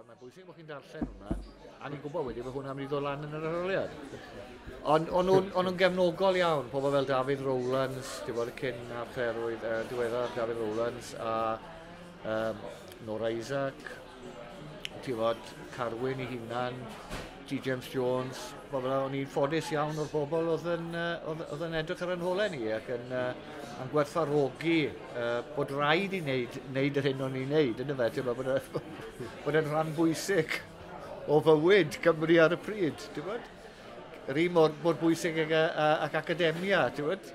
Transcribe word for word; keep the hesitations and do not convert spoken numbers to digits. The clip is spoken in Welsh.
Ti'n mae'n bwysig bod chi'n darllen hwnna, a ni'n gwybod wedyn bod hwnna'n mynd i ddod lan yn yr arholiad. Ond o'n nhw'n o'n nhw'n gefnogol iawn, pobl fel Dafydd Rowlands, ti'n bod, y cyn archdderwydd, uh, diweddar Dafydd Rowlands, a um, Nora Isaac, ti'n bod, Carwyn ei hunan, G. James Jones, bobl, o'n i'n ffodus iawn o'r bobl oedd yn, uh, oedd, oedd yn edrych ar yn holau ni ac yn, uh, yn gwerthfawrogi uh, bod rhaid i wneud, wneud yr hyn o'n i'n wneud, yn y fe, ti'n bod, bod, e- bod e'n rhan bwysig o fywyd Cymru ar y pryd, ti'n bod? Yr un mor, mor bwysig ag, ac academia, ti'n bod?